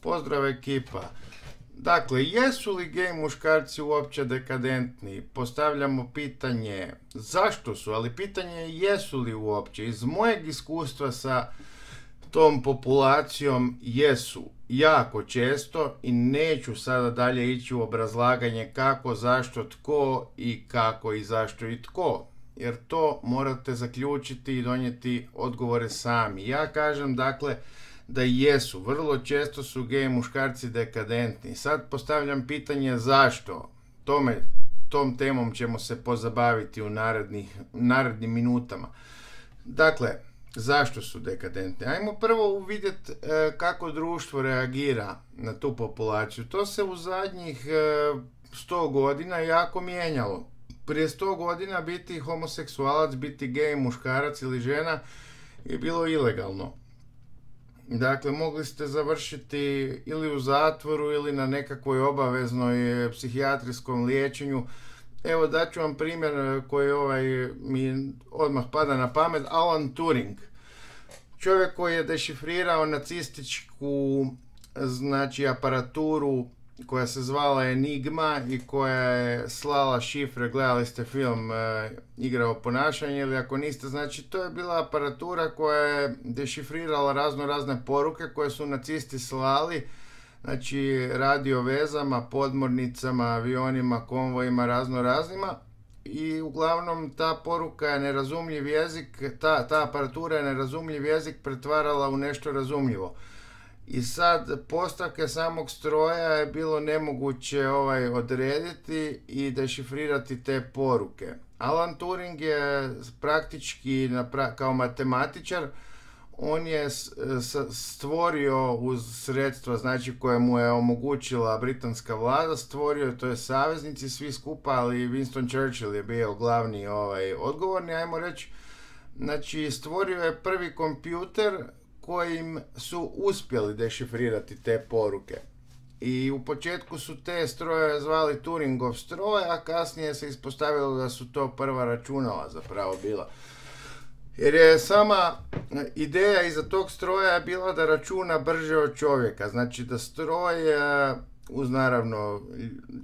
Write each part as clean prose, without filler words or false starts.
Pozdrav ekipa. Dakle, jesu li gej muškarci uopće dekadentni? Postavljamo pitanje zašto su, ali pitanje je jesu li uopće. Iz mojeg iskustva sa tom populacijom jesu jako često i neću sada dalje ići u obrazlaganje kako, zašto, tko i kako i zašto i tko. Jer to morate zaključiti i donijeti odgovore sami. Ja kažem dakle da jesu. Vrlo često su gej muškarci dekadentni. Sad postavljam pitanje zašto. Tom temom ćemo se pozabaviti u narednim minutama. Dakle, zašto su dekadentni? Ajmo prvo uvidjeti kako društvo reagira na tu populaciju. To se u zadnjih 100 godina jako mijenjalo. Prije 100 godina biti homoseksualac, biti gej muškarac ili žena je bilo ilegalno. Dakle, mogli ste završiti ili u zatvoru ili na nekakvoj obaveznoj psihijatrijskom liječenju. Evo daću vam primjer koji mi odmah pada na pamet. Alan Turing. Čovjek koji je dešifrirao nacističku aparaturu koja se zvala Enigma i koja je slala šifre. Gledali ste film Igra o ponašanju ili ako niste, znači to je bila aparatura koja je dešifrirala razne poruke koje su nacisti slali, znači radio vezama, podmornicama, avionima, konvojima, raznima, i uglavnom ta poruka je nerazumljiv jezik, ta aparatura je nerazumljiv jezik pretvarala u nešto razumljivo. I sad postavke samog stroja je bilo nemoguće odrediti i dešifrirati te poruke. Alan Turing je praktički kao matematičar, on je stvorio uz sredstva, znači koje mu je omogućila britanska vlada, stvorio, to je saveznici svi skupa, ali Winston Churchill je bio glavni odgovorni, ajmo reći. Znači stvorio je prvi kompjuter kojim su uspjeli dešifrirati te poruke. I u početku su te strojeve zvali Turingov stroj, a kasnije se ispostavilo da su to prva računala zapravo bila. Jer je sama ideja iza tog stroja je bila da računa brže od čovjeka. Znači da stroj, uz naravno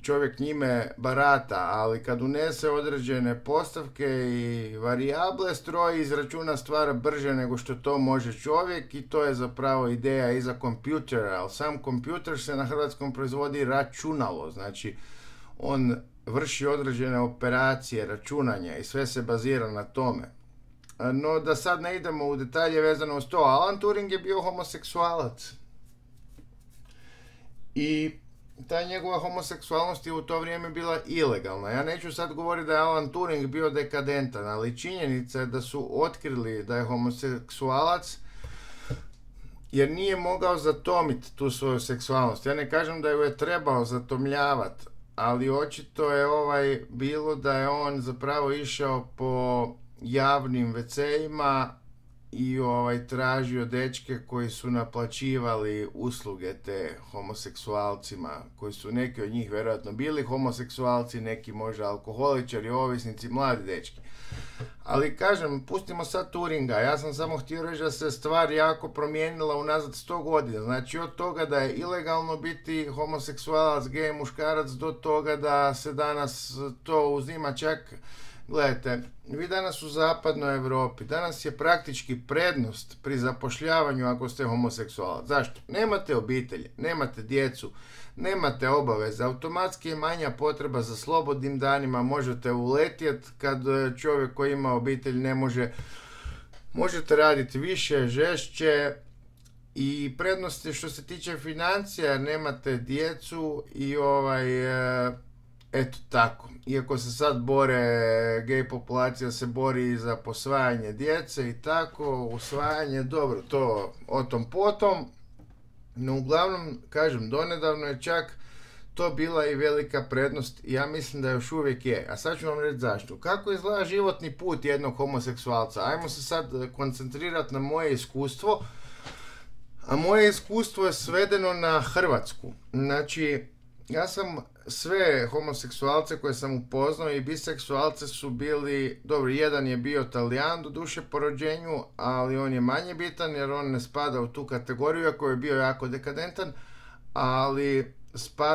čovjek njime barata, ali kad unese određene postavke i varijable, stroj izračuna stvar brže nego što to može čovjek i to je zapravo ideja iza kompjutera. Ali sam kompjuter se na hrvatskom proizvodi računalo, znači on vrši određene operacije, računanja i sve se bazira na tome. No da sad ne idemo u detalje vezano uz to, Alan Turing je bio homoseksualac. I ta njegova homoseksualnost je u to vrijeme bila ilegalna. Ja neću sad govoriti da je Alan Turing bio dekadentan, ali činjenica je da su otkrili da je homoseksualac jer nije mogao zatomiti tu svoju seksualnost. Ja ne kažem da ju je trebao zatomljavati, ali očito je bilo da je on zapravo išao po javnim WC-ima i tražio dečke koji su naplaćivali usluge te homoseksualcima, koji su neki od njih vjerojatno bili homoseksualci, neki možda alkoholičari, ovisnici, mladi dečki. Ali kažem, pustimo sad Turinga, ja sam samo htio reći da se stvar jako promijenila unazad 100 godina. Znači od toga da je ilegalno biti homoseksualac, gej muškarac, do toga da se danas to uzima čak. Gledajte, vi danas u zapadnoj Europi, danas je praktički prednost pri zapošljavanju ako ste homoseksualac. Zašto? Nemate obitelji, nemate djecu, nemate obaveze, automatski je manja potreba za slobodnim danima, možete uletjeti kad čovjek koji ima obitelj ne može, možete raditi više, žešće i prednosti što se tiče financija, nemate djecu i eto tako. Iako se sad gej populacija se bori za posvajanje djece i tako, usvajanje, dobro, to o tom potom. No uglavnom, kažem, donedavno je čak to bila i velika prednost i ja mislim da još uvijek je. A sad ću vam reći zašto. Kako izgleda životni put jednog homoseksualca? Ajmo se sad koncentrirati na moje iskustvo. A moje iskustvo je svedeno na Hrvatsku. Znači, ja sam sve homoseksualce koje sam upoznao i biseksualce su bili, dobro, jedan je bio Talijan doduše po rođenju, ali on je manje bitan jer on ne spada u tu kategoriju, ako je bio jako dekadentan, ali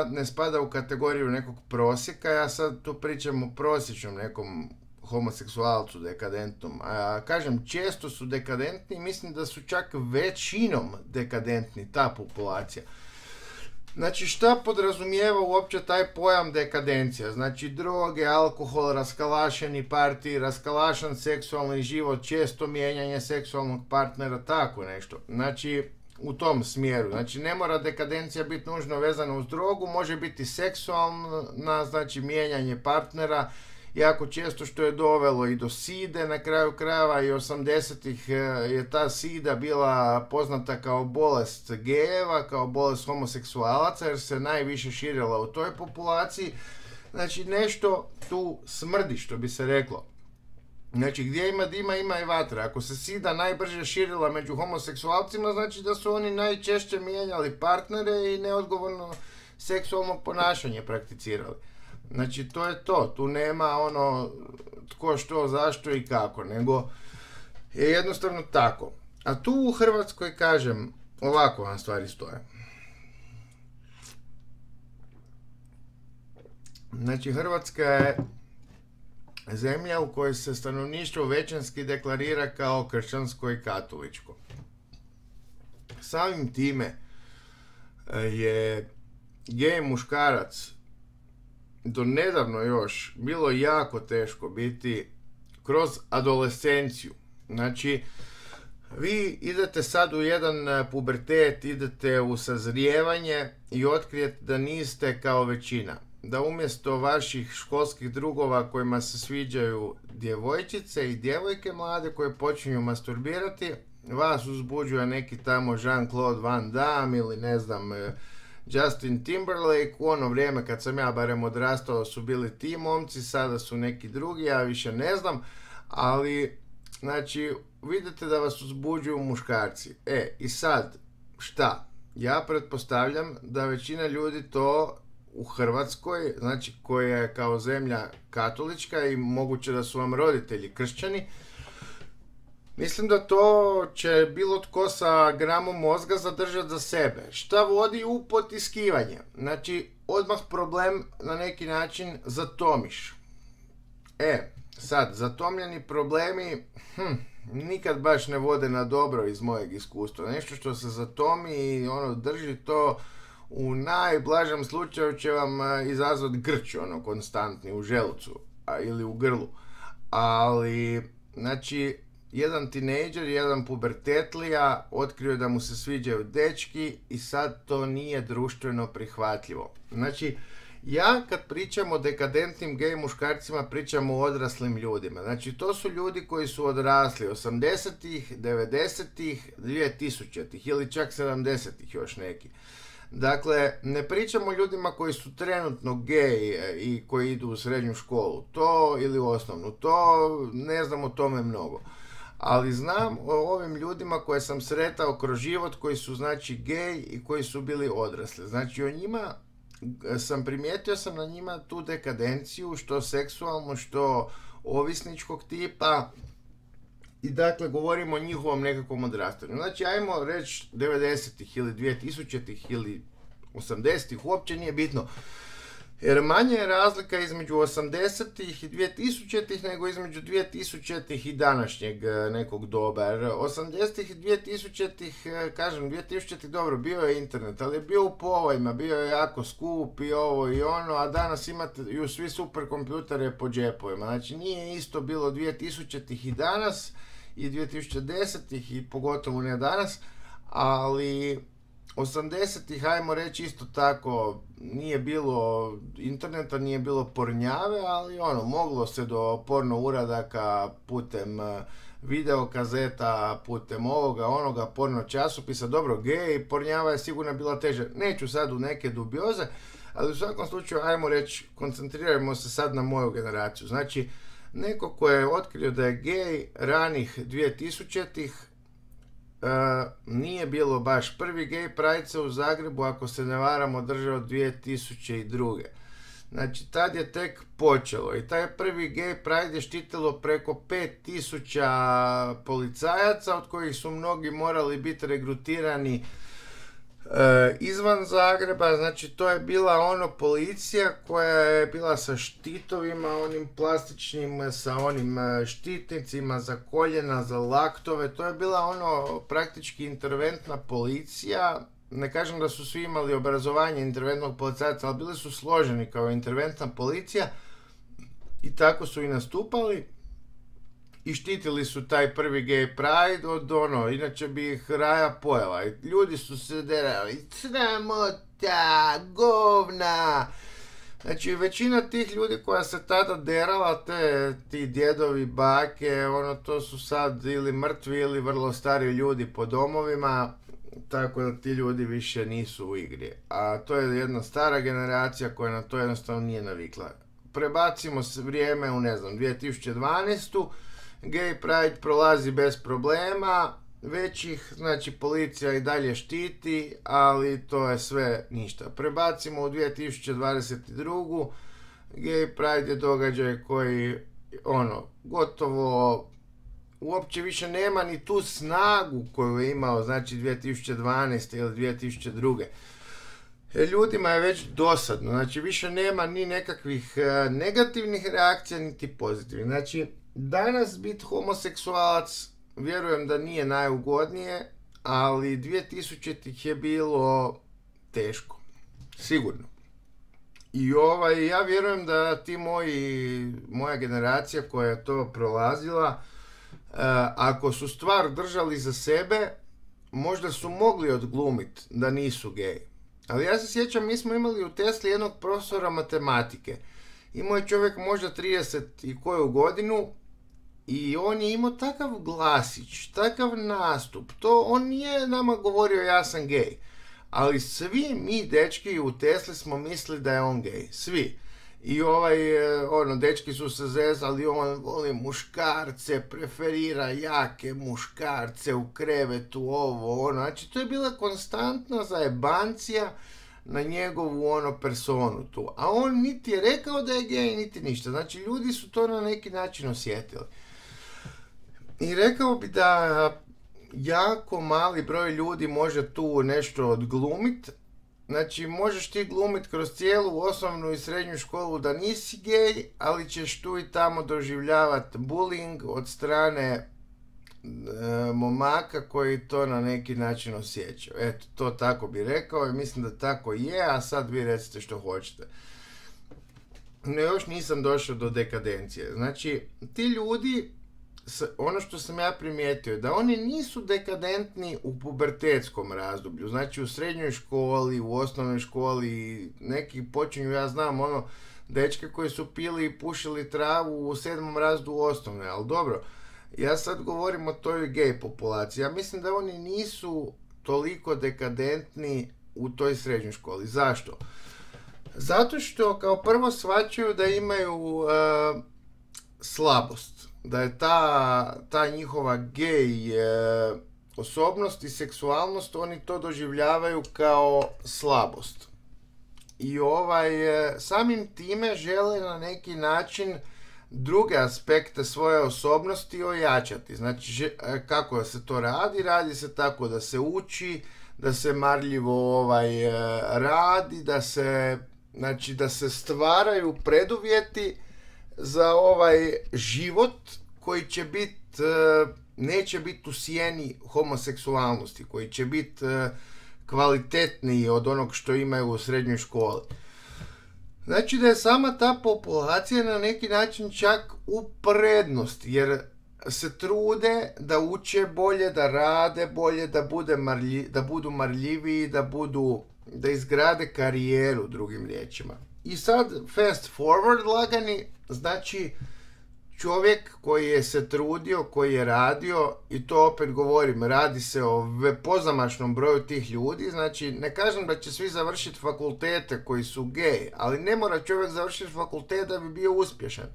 ne spada u kategoriju nekog prosjeka. Ja sad tu pričam o prosječnom nekom homoseksualcu dekadentnom. A kažem, često su dekadentni, mislim da su čak većinom dekadentni, ta populacija. Znači, šta podrazumijeva uopće taj pojam dekadencija? Znači, droge, alkohol, raskalašeni partiji, raskalašan seksualni život, često mijenjanje seksualnog partnera, tako nešto. Znači, u tom smjeru. Znači, ne mora dekadencija biti nužno vezana uz drogu, može biti seksualna, znači mijenjanje partnera, jako često, što je dovelo i do side na kraju krajeva, i 80-ih je ta sida bila poznata kao bolest gejeva, kao bolest homoseksualaca, jer se najviše širila u toj populaciji. Znači, nešto tu smrdi, što bi se reklo. Znači, gdje ima dima, ima i vatra. Ako se sida najbrže širila među homoseksualcima, znači da su oni najčešće mijenjali partnere i neodgovorno seksualno ponašanje prakticirali. Znači, to je to. Tu nema ono tko, što, zašto i kako, nego je jednostavno tako. A tu u Hrvatskoj, kažem, ovako vam stvari stoje. Znači, Hrvatska je zemlja u kojoj se stanovništvo većinski deklarira kao kršćansko i katoličko. Samim time je gej muškarac do nedavno još bilo jako teško biti kroz adolescenciju. Znači, vi idete sad u jedan pubertet, idete u sazrijevanje i otkrijete da niste kao većina. Da umjesto vaših školskih drugova kojima se sviđaju djevojčice i djevojke mlade koje počinju masturbirati, vas uzbuđuje neki tamo Jean-Claude Van Damme ili ne znam Justin Timberlake. U ono vrijeme kad sam ja barem odrastao su bili ti momci, sada su neki drugi, ja više ne znam, ali znači vidite da vas uzbuđuju muškarci. I sad, šta? Ja pretpostavljam da većina ljudi to u Hrvatskoj, znači koja je kao zemlja katolička i moguće da su vam roditelji kršćani, mislim da to će bilo tko sa gramom mozga zadržati za sebe. Šta vodi u potiskivanje? Znači, odmah problem na neki način zatomiš. Sad, zatomljeni problemi nikad baš ne vode na dobro iz mojeg iskustva. Nešto što se zatomi i drži to, u najblažem slučaju će vam izazvati grč, konstantni u želucu ili u grlu. Ali, znači, jedan tinejdžer, jedan pubertetlija otkrio da mu se sviđaju dečki i sad to nije društveno prihvatljivo. Znači, ja kad pričam o dekadentnim gej muškarcima, pričam o odraslim ljudima. Znači, to su ljudi koji su odrasli 80-ih, 90-ih, 2000-ih ili čak 70-ih još neki. Dakle, ne pričamo o ljudima koji su trenutno gej i koji idu u srednju školu, to ili u osnovnu, to ne znam o tome mnogo. Ali znam o ovim ljudima koje sam sretao kroz život, koji su znači gej i koji su bili odrasli. Znači, o njima primijetio sam na njima tu dekadenciju, što seksualno, što ovisničkog tipa. I dakle, govorimo o njihovom nekakvom odrastanju. Znači, ajmo reći 90-ih ili 2000-ih ili 80-ih, uopće nije bitno. Jer manje je razlika između 80-ih i 2000-ih nego između 2000-ih i današnjeg nekog doba. Jer 80-ih i 2000-ih, kažem, 2000-ih dobro, bio je internet, ali je bio u povojima, bio je jako skup i ovo i ono, a danas imate svi superkompjutere po džepovima. Znači, nije isto bilo 2000-ih i danas, i 2010-ih i pogotovo ne danas, ali 80-ih, ajmo reći isto tako, nije bilo interneta, nije bilo pornjave, ali moglo se do porno uradaka putem videokazeta, putem ovoga, onoga, porno časopisa. Dobro, gej, pornjava je sigurno bila teže. Neću sad u neke dubioze, ali u svakom slučaju, ajmo reći, koncentrirajmo se sad na moju generaciju. Znači, neko ko je otkrio da je gej ranih 2000-ih, nije bilo baš. Prvi gej pride se u Zagrebu, ako se ne varam, održao 2002. Znači, tad je tek počelo i taj prvi gej pride je štitilo preko 5000 policajaca, od kojih su mnogi morali biti regrutirani Izvan Zagreba, znači to je bila policija koja je bila sa štitovima, onim plastičnim, sa onim štitnicima za koljena, za laktove, to je bila praktički interventna policija. Ne kažem da su svi imali obrazovanje interventnog policajca, ali bili su složeni kao interventna policija i tako su i nastupali. I štitili su taj prvi gay pride od inače bi ih raja pojela. I ljudi su se derali, sramota, govna. Znači, većina tih ljudi koja se tada derala, ti djedovi, bake, to su sad ili mrtvi ili vrlo stari ljudi po domovima, tako da ti ljudi više nisu u igri. A to je jedna stara generacija koja na to jednostavno nije navikla. Prebacimo se vrijeme u, 2012. Gay Pride prolazi bez problema, već ih, znači, policija i dalje štiti, ali to je sve ništa. Prebacimo u 2022. Gay Pride je događaj koji, gotovo uopće više nema ni tu snagu koju je imao, znači, 2012. ili 2002. Ljudima je već dosadno, znači, više nema ni nekakvih negativnih reakcija, niti pozitivnih. Znači, danas biti homoseksualac, vjerujem da nije najugodnije, ali 2000-ih je bilo teško. Sigurno. I ja vjerujem da ti moja generacija koja je to prolazila, ako su stvar držali za sebe, možda su mogli odglumiti da nisu geji. Ali ja se sjećam, mi smo imali u Tesli jednog profesora matematike. Imao je čovjek možda 30 i koju godinu i on je imao takav glasić, takav nastup. On nije nama govorio ja sam gej. Ali svi mi dečki u Tesli smo mislili da je on gej. Svi. I dečki su se zezali, on voli muškarce, preferira jake muškarce u krevetu, Znači, to je bila konstantna zajebancija na njegovu personu tu. A on niti je rekao da je gej, niti ništa. Znači, ljudi su to na neki način osjetili. I rekao bi da jako mali broj ljudi može tu nešto odglumit. Znači, možeš ti glumit kroz cijelu osnovnu i srednju školu da nisi gej, ali ćeš tu i tamo doživljavati bullying od strane momaka koji to na neki način osjećaju. Eto, to tako bi rekao i mislim da tako je, a sad vi recite što hoćete. No, još nisam došao do dekadencije. Znači, ti ljudi, ono što sam ja primijetio, da oni nisu dekadentni u pubertetskom razdoblju, znači u srednjoj školi, u osnovnoj školi, neki počinju, ja znam, dečke koji su pili i pušili travu u 7. razredu osnovne, ali dobro, ja sad govorim o toj gej populaciji, ja mislim da oni nisu toliko dekadentni u toj srednjoj školi. Zašto? Zato što kao prvo shvaćaju da imaju slabost, da je ta njihova gej osobnost i seksualnost, oni to doživljavaju kao slabost. I samim time žele na neki način druge aspekte svoje osobnosti ojačati. Znači, kako se to radi? Radi se tako da se uči, da se marljivo radi, da se stvaraju preduvjeti za život koji će neće biti u sjeni homoseksualnosti, koji će biti kvalitetniji od onog što imaju u srednjoj školi. Znači da je sama ta populacija na neki način čak u prednosti, jer se trude da uče bolje, da rade bolje, da budu marljiviji, da izgrade karijeru, drugim riječima. I sad, fast forward lagani, znači čovjek koji je se trudio, koji je radio, i to opet govorim, radi se o pozamašnom broju tih ljudi, znači ne kažem da će svi završiti fakultete koji su gej, ali ne mora čovjek završiti fakultet da bi bio uspješan.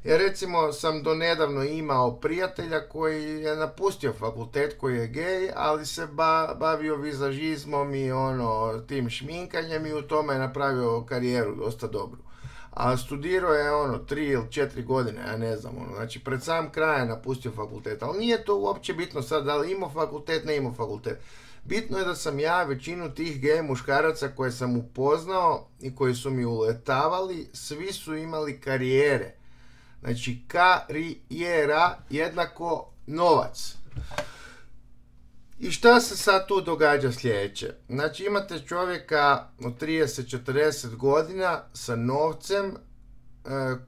Ja recimo sam do nedavno imao prijatelja koji je napustio fakultet, koji je gej, ali se bavio vizažizmom i tim šminkanjem i u tome je napravio karijeru dosta dobru. A studirao je 3 ili 4 godine, ja ne znam, znači pred sam kraj je napustio fakultet, ali nije to uopće bitno sad da li imao fakultet, ne imao fakultet. Bitno je da sam ja većinu tih gej muškaraca koje sam upoznao i koji su mi uletavali, svi su imali karijere. Znači, karijera jednako novac. I šta se sad tu događa sljedeće? Znači, imate čovjeka od 30-40 godina sa novcem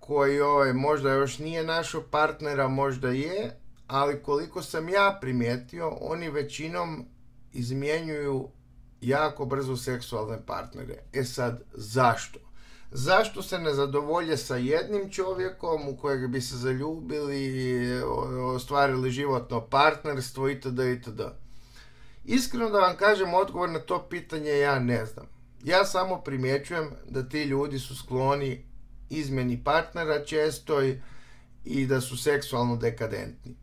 koji možda još nije našao partnera, možda je, ali koliko sam ja primijetio, oni većinom izmjenjuju jako brzo seksualne partnere. E sad, zašto? Zašto se ne zadovolje sa jednim čovjekom u kojeg bi se zaljubili, ostvarili životno partnerstvo itd. itd. Iskreno da vam kažem, odgovor na to pitanje ja ne znam. Ja samo primjećujem da ti ljudi su skloni izmjeni partnera često i da su seksualno dekadentni.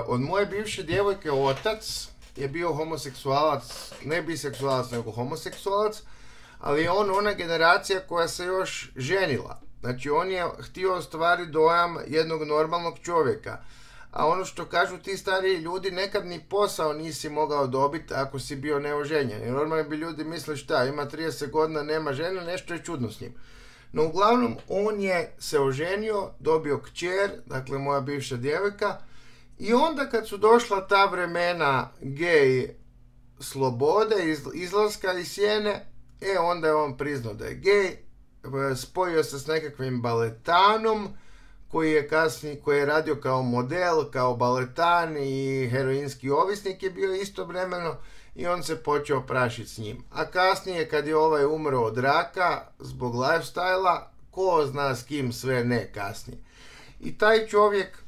Od moje bivše djevojke otac je bio homoseksualac, ne biseksualac nego homoseksualac, ali je on ona generacija koja se još ženila. Znači on je htio ostvariti dojam jednog normalnog čovjeka. A ono što kažu ti stariji ljudi, nekad ni posao nisi mogao dobiti ako si bio neoženjen. Jer normalno bi ljudi mislili šta, ima 30 godina, nema žene, nešto je čudno s njim. No uglavnom, on je se oženio, dobio kćer, dakle moja bivša djevojka, i onda kad su došla ta vremena gej slobode, izlaska iz sjene, onda je on priznao da je gej, spojio se s nekakvim baletanom, koji je radio kao model, kao baletan i heroinski ovisnik je bio istovremeno, i on se počeo prašiti s njim. A kasnije, kad je ovaj umro od raka zbog lifestyle-a, ko zna s kim sve ne kasnije. I taj čovjek,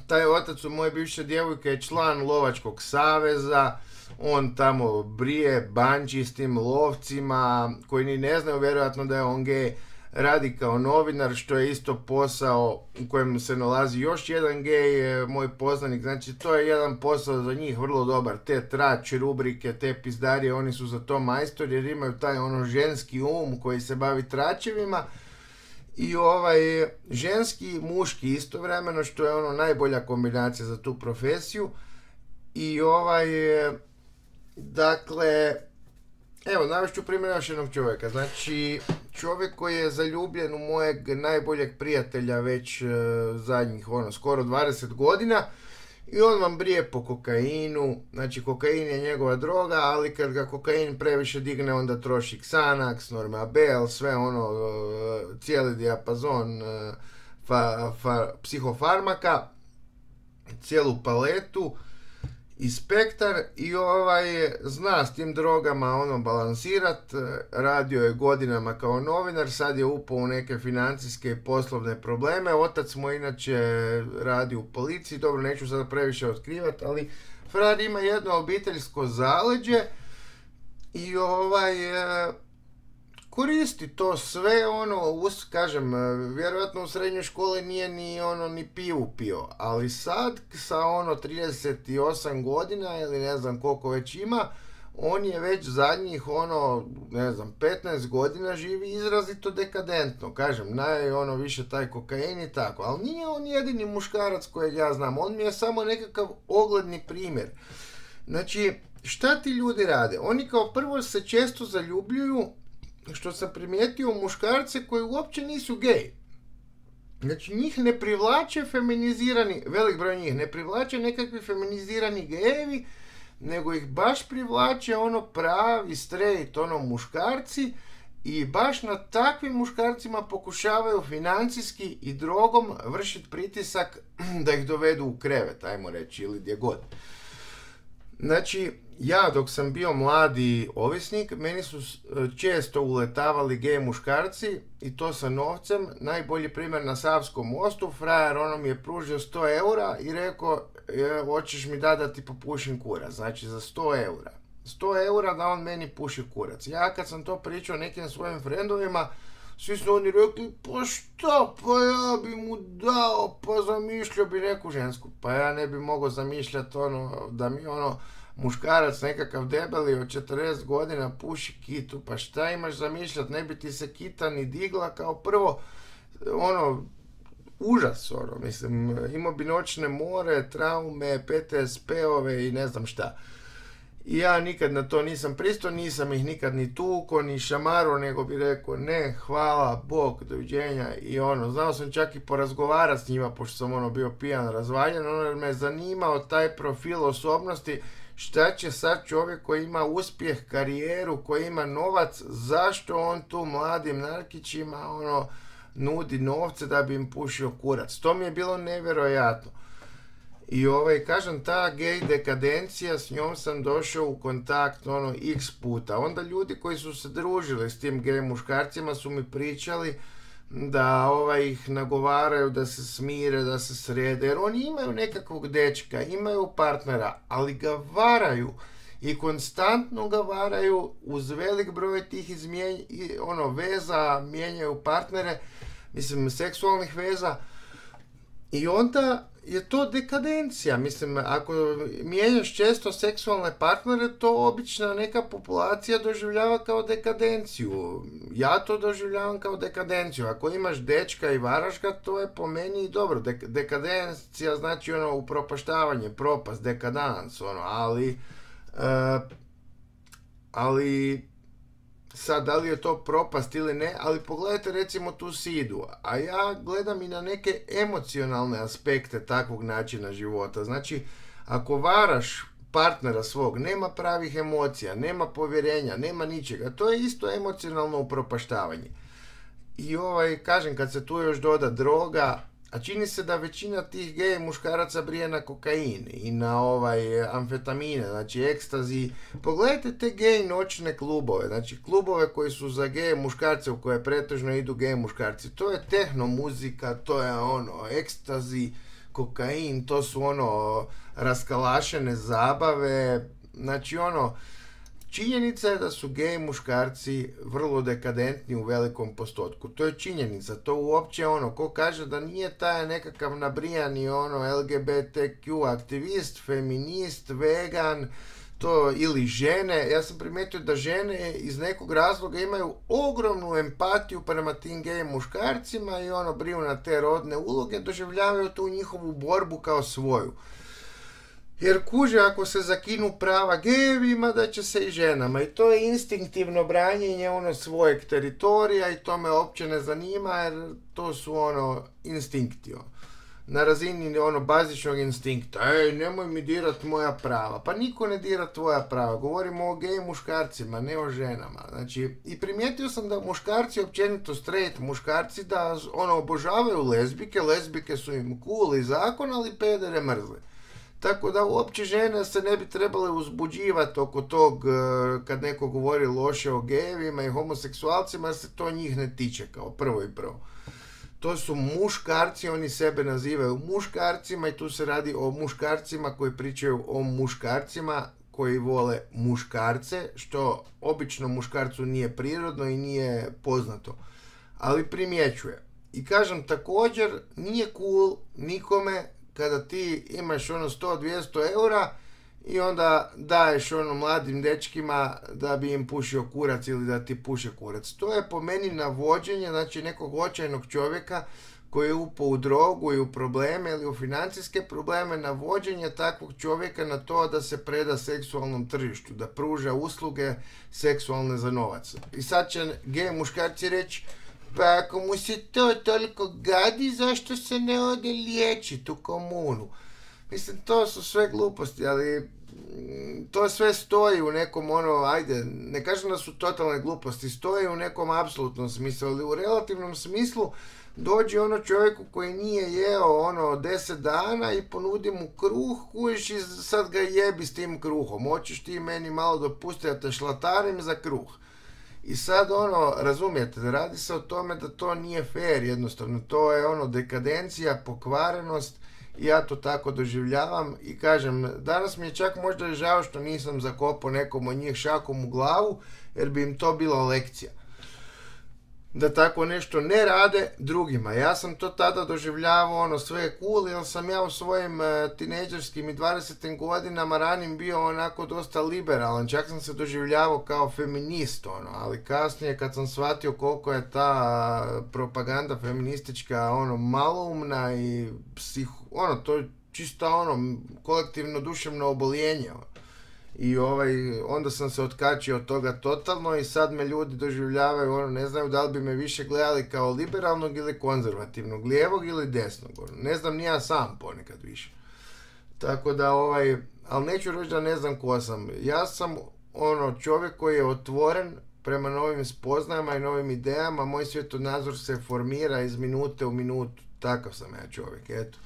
taj otac u moje bivše djevojke je član lovačkog saveza, on tamo brije banči s tim lovcima koji ni ne znaju vjerojatno da je on gej, radi kao novinar, što je isto posao u kojem se nalazi još jedan gej, moj poznanik. Znači to je jedan posao za njih vrlo dobar, te trač rubrike, te pizdarije, oni su za to majstori jer imaju taj ženski koji se bavi tračevima i ženski i muški istovremeno, što je najbolja kombinacija za tu profesiju. I dakle, evo, navešću primjer još jednog čovjeka. Znači, čovjek koji je zaljubljen u mojeg najboljeg prijatelja već zadnjih, skoro 20 godina, i on vam brije po kokainu. Znači, kokain je njegova droga, ali kad ga kokain previše digne, onda troši Xanax, Normabel, sve cijeli dijapazon psihofarmaka, cijelu paletu i spektar, i zna s tim drogama balansirat. Radio je godinama kao novinar, sad je upao u neke financijske i poslovne probleme. Otac mu inače radi u policiji, dobro, neću sada previše otkrivati, ali frajer ima jedno obiteljsko zaleđe i koristi to sve, kažem, vjerojatno u srednjoj školi nije ni pivu pio, ali sad sa 38 godina ili ne znam koliko već ima, on je već zadnjih 15 godina živi izrazito dekadentno, kažem, više taj kokain i tako, ali nije on jedini muškarac kojeg ja znam, on mi je samo nekakav ogledni primjer. Znači, šta ti ljudi rade? Oni kao prvo se često zaljubljuju, što sam primijetio, muškarce koji uopće nisu gej. Znači, njih ne privlače feminizirani, velik broj njih, ne privlače nekakvi feminizirani gejevi, nego ih baš privlače pravi, straight, muškarci, i baš na takvim muškarcima pokušavaju financijski i drogom vršiti pritisak da ih dovedu u krevet, ajmo reći, ili gdje god. Znači, ja dok sam bio mladi ovisnik, meni su često uletavali gej muškarci, i to sa novcem. Najbolji primjer na Savskom mostu, frajer mi je pružio 100 eura i rekao, hoćeš mi da ti popušim kurac, znači za 100 eura. 100 eura da on meni puši kurac. Ja kad sam to pričao nekim svojim frendovima, svi su oni rekli, pa šta, pa ja bi mu dao, pa zamišljao bi neku žensku. Pa ja ne bi mogao zamišljati da mi muškarac nekakav debeli od 40 godina puši kitu, pa šta imaš zamišljati, ne bi ti se kita ni digla kao prvo, užas, ono, mislim, imao bi noćne more, traume, PTSP-ove i ne znam šta. I ja nikad na to nisam pristao, nisam ih nikad ni tuko, ni šamaro, nego bi rekao ne, hvala, Bog, doviđenja i ono, znao sam čak i porazgovarati s njima, pošto sam ono bio pijan, razvaljen, ono, jer me je zanimao taj profil osobnosti, šta će sad čovjek koji ima uspjeh, karijeru, koji ima novac, zašto on tu mladim narkićima, ono, nudi novce da bi im pušio kurac. To mi je bilo nevjerojatno. I kažem, ta gej dekadencija, s njom sam došao u kontakt ono x puta. Onda ljudi koji su se družili s tim gej muškarcima su mi pričali da ih nagovaraju da se smire, da se srede, jer oni imaju nekakvog dečka, imaju partnera, ali ga varaju i konstantno ga varaju uz velik broj tih veza, mijenjaju partnere, mislim, seksualnih veza, i onda je to dekadencija. Mislim, ako mijenjaš često seksualne partnere, to obična neka populacija doživljava kao dekadenciju. Ja to doživljavam kao dekadenciju. Ako imaš dečka i varaš ga, to je po meni dobro. Dekadencija znači upropaštavanje, propast, dekadans, ali sad, da li je to propast ili ne, ali pogledajte recimo tu Sidu, a ja gledam i na neke emocionalne aspekte takvog načina života. Znači, ako varaš partnera svog, nema pravih emocija, nema povjerenja, nema ničega, to je isto emocionalno upropaštavanje. I kažem, kad se tu još doda droga, a čini se da većina tih gej muškaraca brije na kokain i na amfetamine, znači ekstazi. Pogledajte te gej noćne klubove, znači klubove koji su za gej muškarce, u koje pretežno idu gej muškarci. To je tehno muzika, to je ekstazi, kokain, to su raskalašene zabave, znači činjenica je da su gej muškarci vrlo dekadentni u velikom postotku. To je činjenica. To uopće ko kaže da nije taj nekakav nabrijani LGBTQ aktivist, feminist, vegan, to ili žene. Ja sam primijetio da žene iz nekog razloga imaju ogromnu empatiju prema tim gej muškarcima i briju na te rodne uloge, doživljavaju tu njihovu borbu kao svoju. Jer kuže, ako se zakinu prava gejevima, da će se i ženama. I to je instinktivno branjenje svojeg teritorija i to me uopće ne zanima, jer to su instinkti. Na razini bazičnog instinkta. Nemoj mi dirat moja prava. Pa niko ne dira tvoja prava. Govorimo o gej muškarcima, ne o ženama. Znači, i primijetio sam da muškarci, općenito straight muškarci, da obožavaju lezbike. Lezbike su im cool i zakon, ali pedere mrzle. Tako da uopće žene se ne bi trebale uzbuđivati oko tog kad neko govori loše o gejevima i homoseksualcima, jer se to njih ne tiče kao prvo i prvo. To su muškarci, oni sebe nazivaju muškarcima i tu se radi o muškarcima koji pričaju o muškarcima koji vole muškarce, što obično muškarcu nije prirodno i nije poznato, ali primjećuje. I kažem, također nije cool nikome kada ti imaš 100-200 eura i onda daješ mladim dečkima da bi im pušio kurac ili da ti puše kurac. To je po meni navođenje, znači, nekog očajnog čovjeka koji je upao u drogu i u probleme ili u financijske probleme, navođenje takvog čovjeka na to da se preda seksualnom tržištu, da pruža usluge seksualne za novac. I sad će gej muškarci reći, pa ako mu se to toliko gadi, zašto se ne ode liječiti u komunu? Mislim, to su sve gluposti, ali to sve stoji u nekom ajde, ne kažem da su totalne gluposti, stoji u nekom apsolutnom smislu, ali u relativnom smislu dođe čovjeku koji nije jeo 10 dana i ponudi mu kruh, kujiš i sad ga jebi s tim kruhom, hoćeš ti meni malo dopustiti da te šlatarim za kruh. I sad razumijete, radi se o tome da to nije fair jednostavno, to je dekadencija, pokvarenost i ja to tako doživljavam i kažem, danas mi je čak možda žao što nisam zakopao nekom od njih šakom u glavu, jer bi im to bila lekcija. da tako nešto ne rade drugima. Ja sam to tada doživljavao, ono, sve je cool, jer sam ja u svojim tinejdžerskim i 20. godinama ranim bio onako dosta liberalan, čak sam se doživljavao kao feminist, ono, ali kasnije kad sam shvatio koliko je ta propaganda feministička, ono, maloumna i to je čisto, ono, kolektivno duševno oboljenje, i onda sam se otkačio od toga totalno i sad me ljudi doživljavaju, ono, ne znaju da li bi me više gledali kao liberalnog ili konzervativnog, lijevog ili desnog, ono, ne znam ni ja sam ponekad više. Tako da, ali neću reći da ne znam ko sam. Ja sam, ono, čovjek koji je otvoren prema novim spoznajama i novim idejama, moj svjetonazor se formira iz minute u minutu, takav sam ja čovjek, eto.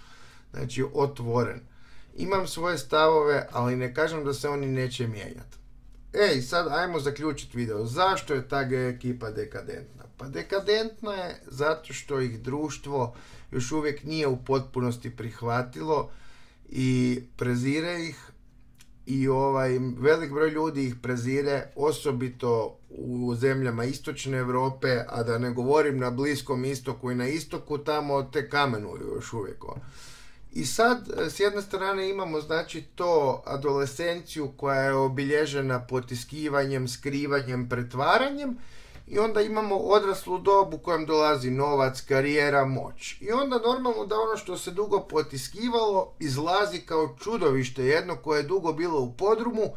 Znači, otvoren. Imam svoje stavove, ali ne kažem da se oni neće mijenjati. Sad ajmo zaključiti video. Zašto je ta gej ekipa dekadentna? Pa dekadentna je zato što ih društvo još uvijek nije u potpunosti prihvatilo i prezire ih, i velik broj ljudi ih prezire, osobito u zemljama istočne Europe, a da ne govorim na Bliskom istoku i na istoku, tamo te kamenuju još uvijek. I sad, s jedne strane imamo, znači, to adolescenciju koja je obilježena potiskivanjem, skrivanjem, pretvaranjem, i onda imamo odraslu dobu u kojem dolazi novac, karijera, moć. I onda normalno da ono što se dugo potiskivalo izlazi kao čudovište jedno koje je dugo bilo u podrumu,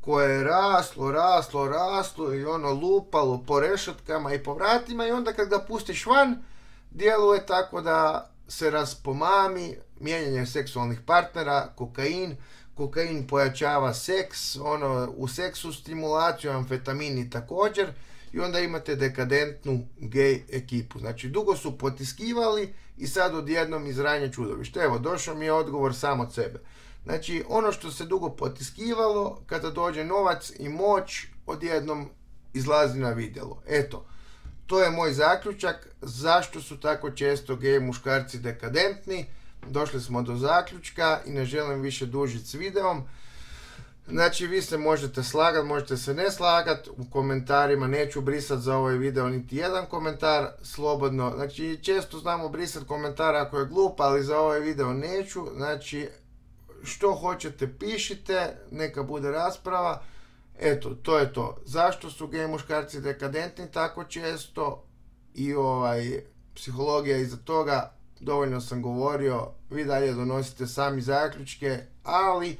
koje je raslo i ono lupalo po rešetkama i po vratima, i onda kad ga pustiš van, djeluje tako da se raspomami, mijenjanje seksualnih partnera, kokain pojačava seks, ono, u seksu stimulaciju, amfetamini također, i onda imate dekadentnu gej ekipu. Znači, dugo su potiskivali i sad odjednom izranje čudovište. Evo, došao mi je odgovor sam od sebe. Znači, ono što se dugo potiskivalo, kada dođe novac i moć, odjednom izlazi na vidjelo. Eto, to je moj zaključak. Zašto su tako često gej muškarci dekadentni? Došli smo do zaključka i ne želim više dužiti s videom. Znači, vi se možete slagati, možete se ne slagati, u komentarima neću brisati za ovaj video niti jedan komentar, slobodno. Znači, često znamo brisati komentar ako je glup, ali za ovaj video neću. Znači, što hoćete pišite, neka bude rasprava. Eto, to je to. Zašto su gej muškarci dekadentni tako često i psihologija iza toga, dovoljno sam govorio, vi dalje donosite sami zaključke, ali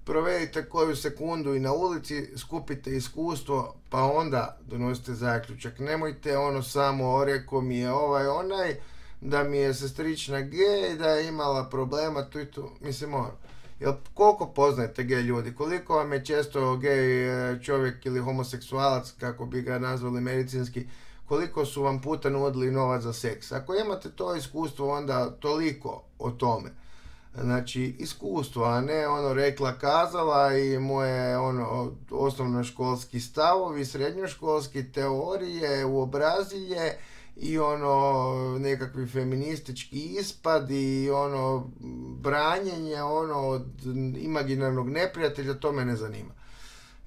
provedite koju sekundu i na ulici, skupite iskustvo, pa onda donosite zaključak. Nemojte ono samo, rekao mi je onaj, da mi je sestrična gej, da je imala problema, tu i tu, mislim Jel, koliko poznajete gej ljudi? Koliko vam je često gej čovjek ili homoseksualac, kako bi ga nazvali medicinski, koliko su vam puta nudili novac za seks? Ako imate to iskustvo, onda toliko o tome. Znači, iskustvo, a ne rekla kazala i moje osnovnoškolski stavovi, srednjoškolski teorije, uobrazilje i nekakvi feministički ispad i branjenje od imaginarnog neprijatelja, to me ne zanima.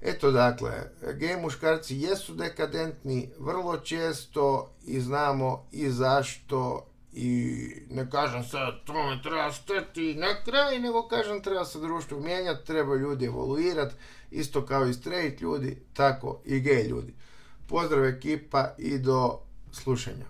Eto, dakle, gej muškarci jesu dekadentni vrlo često i znamo i zašto, i ne kažem sad tome treba stati na kraj, nego kažem treba se društvo mijenjati, treba ljudi evoluirati, isto kao i straight ljudi, tako i gej ljudi. Pozdrav ekipa i do slušanja.